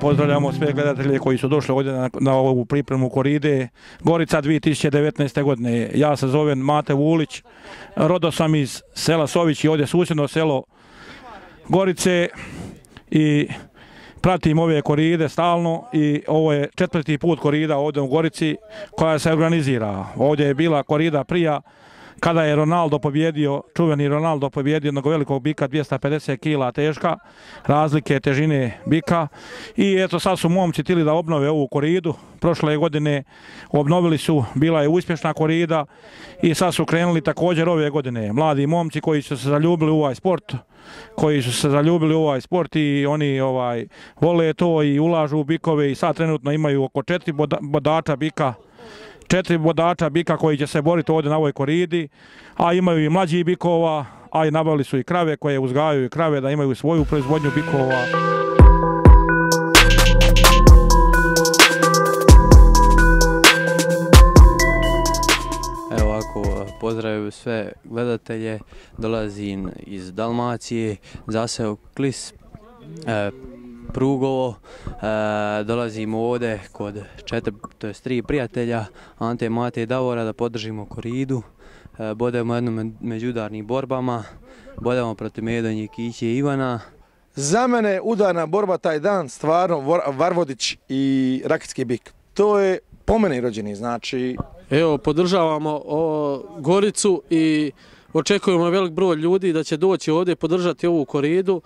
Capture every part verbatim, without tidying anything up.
pozdravljamo sve gledatelje koji su došli ovdje na, na ovu pripremu koride Gorica dvije tisuće devetnaeste. godine. Ja se zovem Mate Vulić, rodo sam iz sela Sović i ovdje susjedno selo Gorice i pratim ove koride stalno i ovo je četvrti put korida ovdje u Gorici koja se organizira. Ovdje je bila korida prija kada je Ronaldo pobjedio, čuveni Ronaldo pobjedio jednog velikog bika, dvjesto pedeset kila teška, razlike težine bika. I eto sad su momci htjeli da obnove ovu koridu. Prošle godine obnovili su, bila je uspješna korida i sad su krenuli također ove godine. Mladi momci koji su se zaljubili u ovaj sport, koji su se zaljubili u ovaj sport i oni ovaj vole to i ulažu u bikove i sad trenutno imaju oko četiri bodača bika, četiri bodača bika koji će se boriti ovdje na ovoj koridi, a imaju i mlađih bikova, a i nabavili su i krave koje uzgajaju i krave da imaju svoju proizvodnju bikova. Evo ovako, pozdravim sve gledatelje, dolazim iz Dalmacije, zaseo Klis, e, Prugovo, e, dolazimo ovdje kod četiri, to jest tri prijatelja, Ante, Mate i Davora, da podržimo koridu. E, bodemo jednom međudarnim borbama, bodemo protiv Medonje, Kiće i Ivana. Za mene udarna borba taj dan, stvarno Varvodić i Rakitski bik. To je po meni rođeni, znači... Evo, podržavamo o, Goricu i očekujemo velik broj ljudi da će doći ovdje podržati ovu koridu.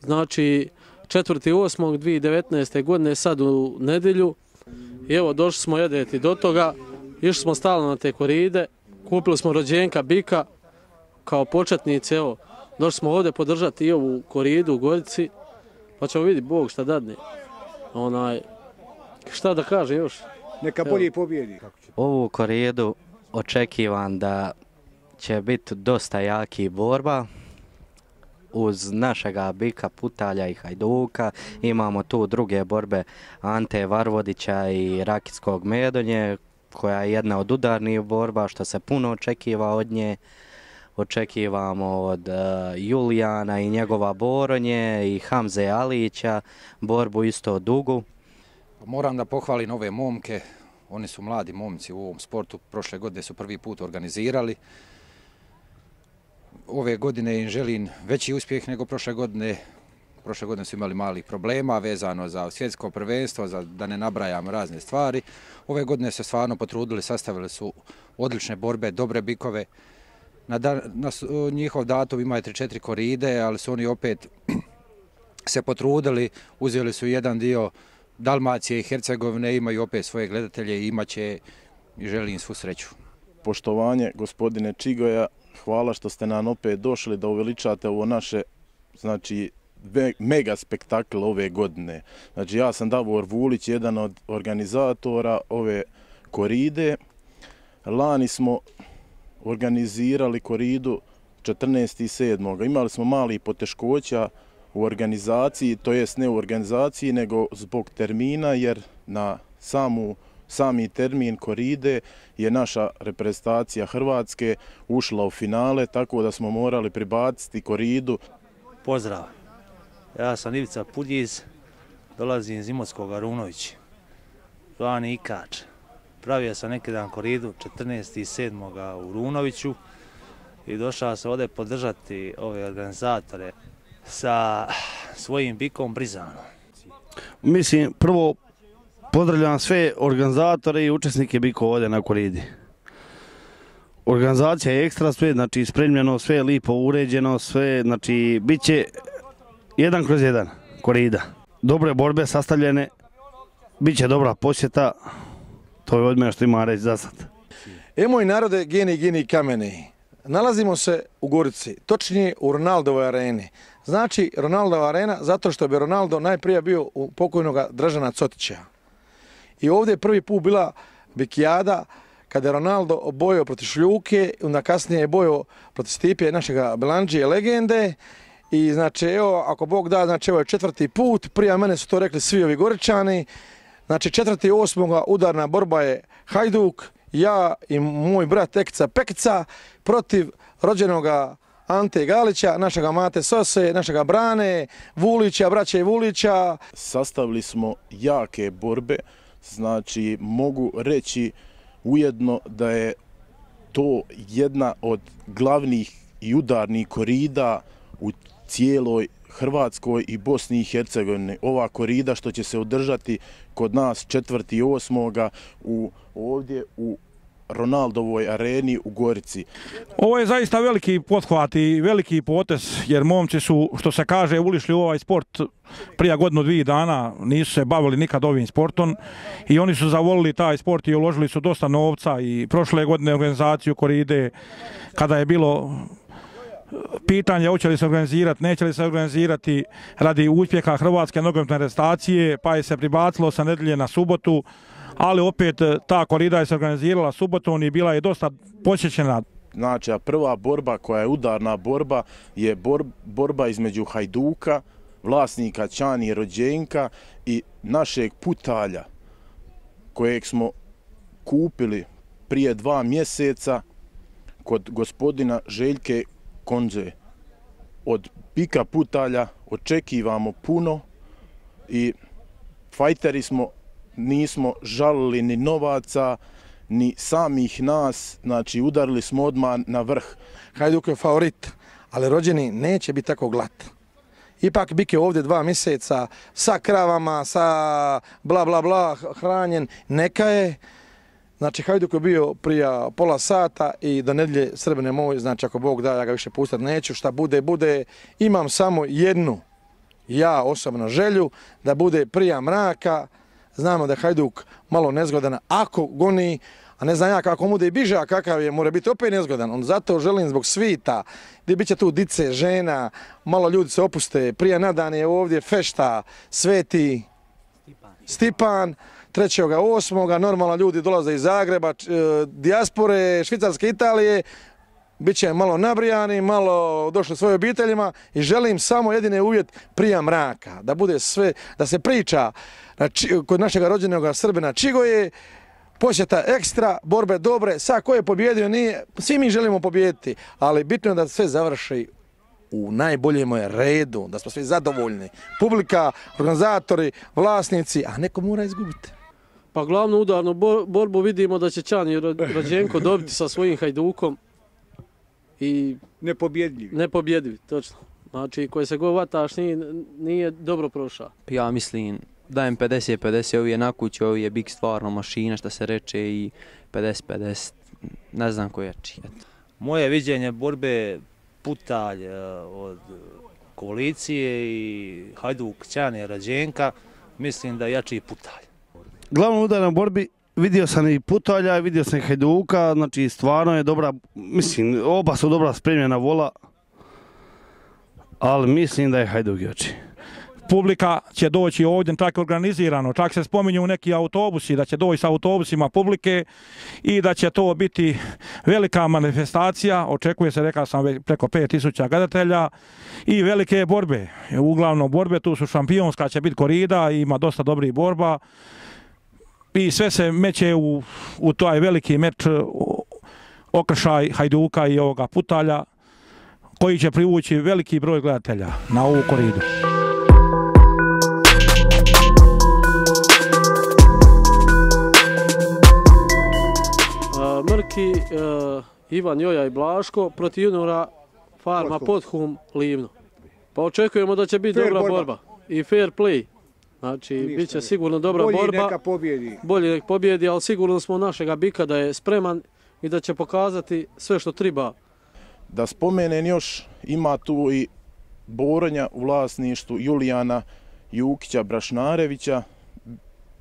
Znači, četvrti osmog dvije tisuće devetnaeste. godine, sad u nedjelju. I evo, došli smo jedeti do toga, išli smo stalno na te koride, kupili smo rođenka bika kao početnici, evo, došli smo ovdje podržati i ovu koridu u Gorici, pa ćemo vidjeti Bog šta dadne. Onaj, šta da kaže još? Neka bolje pobjedi. Ovu koridu očekivam da će biti dosta jaki borba. Uz našega bika Putalja i Hajduka imamo tu druge borbe Ante Varvodića i Rakitskog Medonje, koja je jedna od udarnih borba što se puno očekiva od nje. Očekivamo od uh, Julijana i njegova Boronje i Hamze Alića borbu isto dugu. Moram da pohvalim ove momke, oni su mladi momci u ovom sportu, prošle godine su prvi put organizirali. Ove godine im želim veći uspjeh nego prošle godine. Prošle godine su imali malih problema vezano za svjetsko prvenstvo, za, da ne nabrajam razne stvari. Ove godine se stvarno potrudili, sastavili su odlične borbe, dobre bikove. Na, dan, na njihov datum imaju tri četiri koride, ali su oni opet se potrudili, uzeli su jedan dio Dalmacije i Hercegovine, imaju opet svoje gledatelje i imaće i želim svu sreću. Poštovanje gospodine Čigoja, hvala što ste nam opet došli da uveličate ovo naše, znači, mega spektakl ove godine. Znači, ja sam Davor Vulić, jedan od organizatora ove koride. Lani smo organizirali koridu četrnaestog sedmog Imali smo mali poteškoća u organizaciji, to jest ne u organizaciji, nego zbog termina, jer na samu Sami termin koride je naša reprezentacija Hrvatske ušla u finale, tako da smo morali pribaciti koridu. Pozdrav, ja sam Ivica Puljiz, dolazim iz Imotskog Arunovića, zvani Ikač. Pravio sam neki dan koridu četrnaestog sedmog u Runoviću i došao sam ovdje podržati ove organizatore sa svojim bikom Brizanom. Mislim, prvo pozdravljam sve organizatore i učesnike bikova ovdje na koridi. Organizacija je ekstra, sve, znači spremljeno, sve je lipo uređeno, sve, znači bit će jedan kroz jedan korida. Dobre borbe sastavljene, bit će dobra posjeta, to je od mene što ima reći za sad. E moj narode, geni, geni, kameni. Nalazimo se u Gorici, točnije u Ronaldovoj areni. Znači Ronaldova arena zato što bi Ronaldo najprije bio u pokojnog Dražena Cotića. I ovdje je prvi put bila bikijada kada je Ronaldo bojao protiv Šljuke, onda kasnije je bojao protiv Stipe, našega Belandžije legende. I znači evo, ako Bog da, znači ovo je četvrti put, prije mene su to rekli svi ovi Goričani. Znači četvrti osmoga udarna borba je Hajduk, ja i moj brat Ekica Pekica protiv rođenoga Ante Galića, našega Mate Sose, našega Brane, Vulića, braće Vulića. Sastavili smo jake borbe, znači mogu reći ujedno da je to jedna od glavnih i udarnih korida u cijeloj Hrvatskoj i Bosni i Hercegovini. Ova korida što će se održati kod nas četvrti osmoga u, ovdje u Ronaldovoj areni u Gorici. Ovo je zaista veliki pothvat i veliki potez, jer momci su, što se kaže, ulišli u ovaj sport prije godinu dvije dana, nisu se bavili nikad ovim sportom i oni su zavolili taj sport i uložili su dosta novca i prošle godine organizaciju koride, kada je bilo pitanje hoće li se organizirati, neće li se organizirati radi uspjeha Hrvatske nogometne reprezentacije, pa je se pribacilo sa nedjelje na subotu, ali opet ta korida je se organizirala subotom i bila je dosta posjećena. Znači, a prva borba koja je udarna borba je bor, borba između Hajduka, vlasnika Ćanije Rođenka i našeg Putalja, kojeg smo kupili prije dva mjeseca kod gospodina Željke Konđe. Od Bika Putalja očekivamo puno i fajteri smo, nismo žalili ni novaca, ni samih nas, znači udarili smo odmah na vrh. Hajduk je favorit, ali rođeni neće biti tako glat. Ipak Bik je ovdje dva mjeseca sa kravama, sa bla bla bla hranjen, neka je. Znači Hajduk je bio prije pola sata i do nedjelje Srbine moj, znači ako Bog da, ja ga više pustati neću, šta bude, bude. Imam samo jednu, ja osobno želju, da bude prije mraka. Znamo da je Hajduk malo nezgodan ako goni, a ne znam ja kako mu bude biže, a kakav je, mora biti opet nezgodan. On zato želim zbog svita, gdje bit će tu dice, žena, malo ljudi se opuste. Prije nadan je ovdje fešta, Sveti Stipan, trećeg osmoga normalno ljudi dolaze iz Zagreba, dijaspore, Švicarske, Italije, bit će malo nabrijani, malo došli svojim obiteljima i želim samo jedine uvjet prije mraka, da bude sve, da se priča kod našeg rođenog Srbina Čigoje, posjeta ekstra, borbe dobre, sad ko je pobjedio nije, svi mi želimo pobijediti, ali bitno je da sve završi u najboljem redu, da smo svi zadovoljni. Publika, organizatori, vlasnici, a neko mora izgubiti. Pa glavnu udarnu borbu vidimo da će Ćani Rođenko dobiti sa svojim Hajdukom i nepobjedljivi. Nepobjedljivi, točno. Znači, koji se god vataš nije, nije dobro prošao. Ja mislim, dajem pedeset pedeset, ovi je na kući, ovi je Bik stvarno mašina, što se reče, i pedeset pedeset, ne znam ko je čiji. Moje viđenje borbe Putalj od koalicije i Hajduk Ćanije Rođenka, mislim da jači Putalj. Glavno udar na borbi vidio sam i Putalja, vidio sam i Hajduka, znači stvarno je dobra, mislim, oba su dobra spremljena vola, ali mislim da je Hajduk jači. Publika će doći ovdje tako organizirano, čak se spominju neki autobusi, da će doći sa autobusima publike i da će to biti velika manifestacija, očekuje se, rekao sam, preko pet tisuća gledatelja i velike borbe. Uglavnom borbe, tu su šampionska, će biti korida, ima dosta dobrih borba i sve se meće u, u taj veliki meč, okršaj Hajduka i ovoga Putalja, koji će privući veliki broj gledatelja na ovu koridu. Mrki, uh, Ivan Joja i Blaško protiv juniora Farma Podhum Livno. Pa očekujemo da će biti fair dobra borba. borba i fair play. Znači, ništa, bit će sigurno dobra bolji borba. Bolji neka pobjedi. Bolji nek pobjedi, ali sigurno smo našega Bika da je spreman i da će pokazati sve što treba. Da spomenem još, ima tu i Boronja u vlasništvu Julijana Jukića Brašnarevića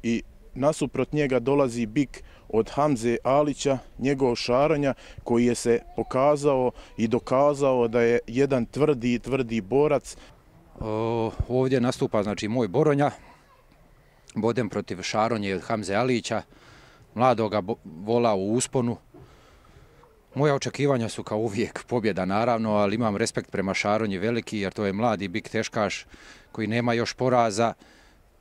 i nasuprot njega dolazi Bik od Hamze Alića, njegov Šaronja, koji je se pokazao i dokazao da je jedan tvrdi, tvrdi borac. O, ovdje nastupa, znači, moj Boronja, bodem protiv Šaronje od Hamze Alića, mladoga vola u usponu. Moja očekivanja su kao uvijek pobjeda, naravno, ali imam respekt prema Šaronji veliki, jer to je mladi Bik teškaš koji nema još poraza.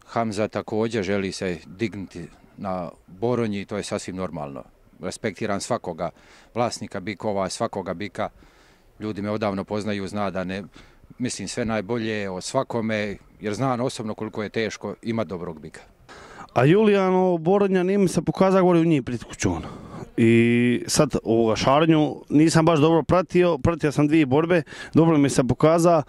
Hamza također želi se dignuti na Boronji, to je sasvim normalno. Respektiram svakoga vlasnika bikova, svakoga Bika Ljudi me odavno poznaju, zna da ne mislim sve najbolje o svakome, jer znam osobno koliko je teško imati dobrog bika. A Julijano Borodnja nije mi se pokazao gore u njih pred kućom. I sad ovoga šarnju nisam baš dobro pratio, pratio sam dvije borbe, dobro mi se pokazao,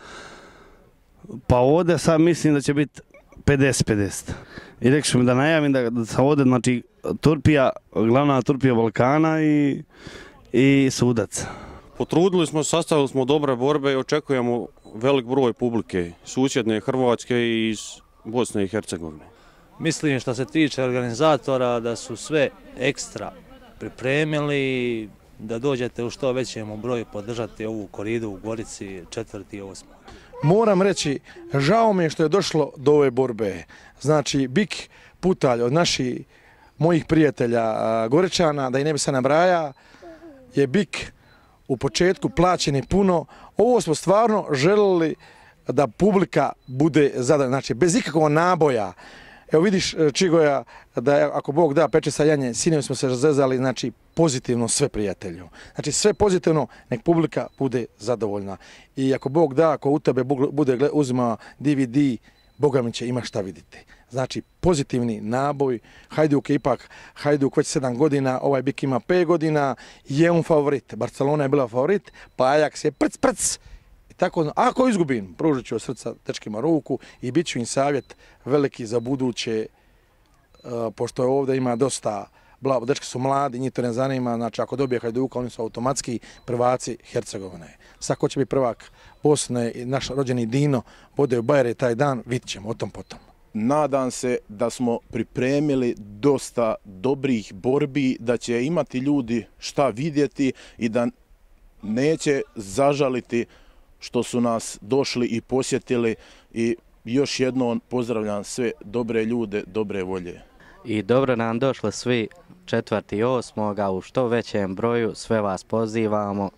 pa ovdje sad mislim da će biti pedeset pedeset. I rekli su mi da najavim da, da sam ovdje, znači, Turpija, glavna Turpija Balkana i, i sudac. Potrudili smo, sastavili smo dobre borbe i očekujemo velik broj publike, susjedne Hrvatske i iz Bosne i Hercegovine. Mislim što se tiče organizatora da su sve ekstra pripremili, da dođete u što većem broju podržati ovu koridu u Gorici četvrti i osmi. Moram reći, žao mi je što je došlo do ove borbe. Znači, Bik Putalj od naših mojih prijatelja Goričana, da i ne bi se nabraja, je Bik u početku plaćeni puno. Ovo smo stvarno želili da publika bude zadovoljna, znači bez ikakvog naboja. Evo vidiš, Čigoja, da ako Bog da peče sa janje, sinovi smo se razrezali, znači pozitivno sve prijatelju. Znači sve pozitivno, nek publika bude zadovoljna. I ako Bog da, ako u tebe bude uzimao D V D, Boga mi će ima šta vidjeti. Znači pozitivni naboj, Hajduk je ipak, Hajduk već sedam godina, ovaj Bik ima pet godina, je on favorit. Barcelona je bila favorit, pa Ajax je prc prc. Tako, ako izgubim, pružit ću od srca dečkima ruku i bit ću im savjet veliki za buduće, uh, pošto je ovdje ima dosta, bla, dečki su mladi, njih to ne zanima, znači ako dobije Hajduka, oni su automatski prvaci Hercegovine. Sad ko će biti prvak Bosne i naš rođeni Dino, bude u Bajere taj dan, vidit ćemo o tom potom. Nadam se da smo pripremili dosta dobrih borbi, da će imati ljudi šta vidjeti i da neće zažaliti što su nas došli i posjetili i još jednom pozdravljam sve dobre ljude, dobre volje. I dobro nam došli svi četvrti i osmoga u što većem broju, sve vas pozivamo.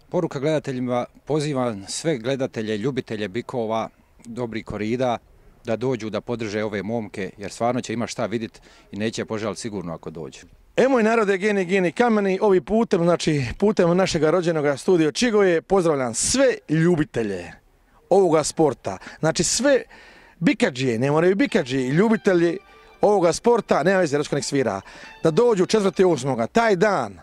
Poruka gledateljima, pozivam sve gledatelje, ljubitelje bikova, dobrih korida, da dođu da podrže ove momke, jer stvarno će ima šta vidjeti i neće požaliti sigurno ako dođu. E moj narode, geni, geni, kameni, ovi putem, znači putem našega rođenog studio Čigoje, pozdravljam sve ljubitelje ovoga sporta. Znači sve bikadžije, ne moraju bikadžije, ljubitelji ovoga sporta, nema veze, Rečko nek svira, da dođu četvrti osmoga taj dan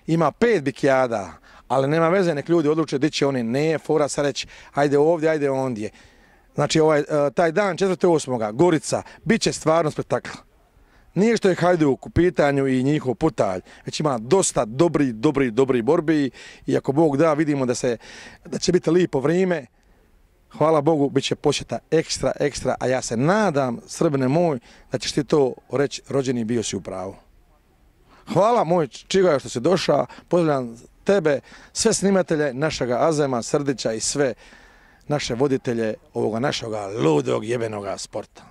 ima pet bikijada, ali nema veze, nek ljudi odluče di će oni, ne fora sad reći, ajde ovdje, ajde ondje. Znači ovaj, taj dan četvrti osmoga Gorica, bit će stvarno spektakl. Nije što je Hajduk u pitanju i njihov Putalj, već ima dosta dobri, dobri, dobri borbi i ako Bog da, vidimo da, se, da će biti lipo vrijeme. Hvala Bogu, bit će posjeta ekstra, ekstra, a ja se nadam, Srbine moj, da ćeš ti to reći, rođeni bio si u pravu. Hvala moj Čigoja što si došao, pozdravljam tebe, sve snimatelje našega Azema, Srdića i sve naše voditelje ovoga našega ludog jebenoga sporta.